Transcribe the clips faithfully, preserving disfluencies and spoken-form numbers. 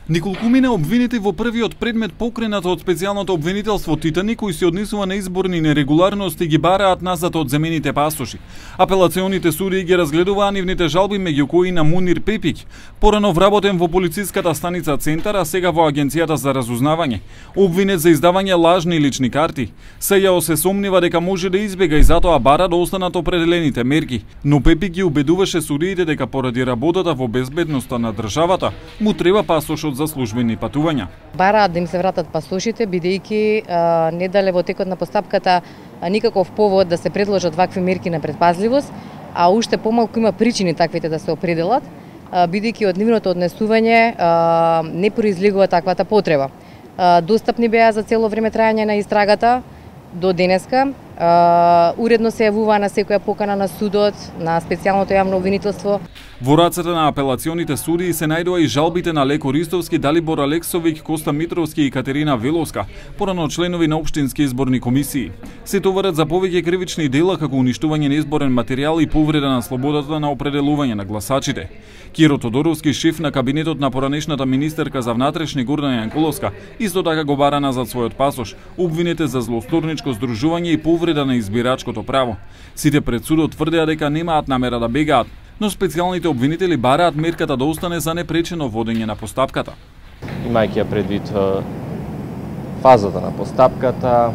Николкумина обвинети во првиот предмет покренат од специјалното обвинителство Титаник, кој се однесува на изборни нерегуларности, ги бараат назад од земените пасоши. Апелационите судии ги разгледуваа нивните жалби, меѓу кои на Мунир Пепик, порано вработен во полициската станица Центар, а сега во Агенцијата за разузнавање. Обвинет за издавање лажни лични карти. Сејао се сомнива дека може да избега и затоа бара да останат определените мерки. Но Пепик ги убедуваше судиите дека поради работата во безбедноста на државата, му треба пасошот за службени патувања. Бараат да им се вратат пасошите, бидејќи не дале во текот на постапката а, никаков повод да се предложат вакви мерки на предпазливост, а уште помалку има причини таквите да се определат, бидејќи од нивното однесување а, не произлегува таквата потреба. А, достапни беа за цело време трајање на истрагата до денеска. Uh, уредно се јавуваа на секоја покана на судот, на специјалното јавно обвинителство. Во рацете на апелационите судии се најдоа и жалбите на Леко Ристовски, Далибор Алексовиќ, Коста Митровски и Катерина Веловска, порано членови на општински изборни комисии. Се товарат за повеќе кривични дела како уништување на изборен материјал и повреда на слободата на определување на гласачите. Киро Тодоровски, шеф на кабинетот на поранешната министерка за внатрешни Гордана Јанкуловска, исто така го бара назад својот пасош, обвинете за злосторничко здружување и повреда на избирачкото право. Сите пред судот тврдеа дека немаат намера да бегаат, но специјалните обвинители бараат мерката да остане за непречено водење на постапката. Имајќи ја предвид фазата на постапката,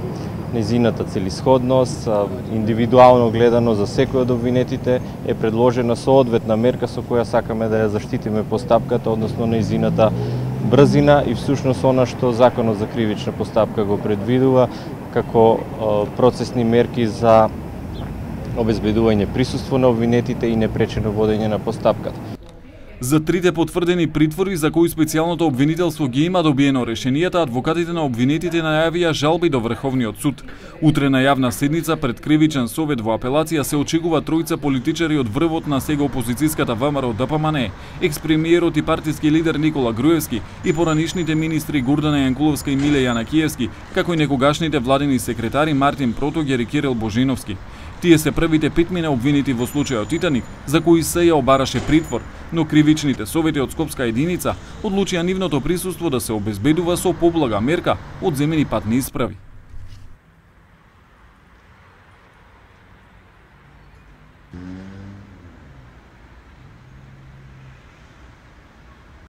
незината целисходност, индивидуално гледано за секој од обвинетите е предложена соодветна мерка со која сакаме да ја заштитиме постапката, односно незината брзина и всушност она што Законот за кривична постапка го предвидува како процесни мерки за обезбедување присуство на обвинетите и непречено водење на постапката. За трите потврдени притвори за кои специјалното обвинителство ги има добиено решенијата, адвокатите на обвинетите најавија жалби до Врховниот суд. Утре на јавна седница пред кривичен совет во апелација се очекува тројца политичари од врвот на сега опозицијската ВМРО Д П М Н, екс-премиерот и партиски лидер Никола Груевски и поранишните министри Гордана Јанкуловска и Миле Јанакиевски, како и некогашните владени секретари Мартин Протогер и Кирил Божиновски. Тие се првите петмина обвинети во случајот Титаник, за кои се ја обараше притвор, но кривичните совети од Скопска единица одлучија нивното присуство да се обезбедува со поблага мерка од земени патни исправи.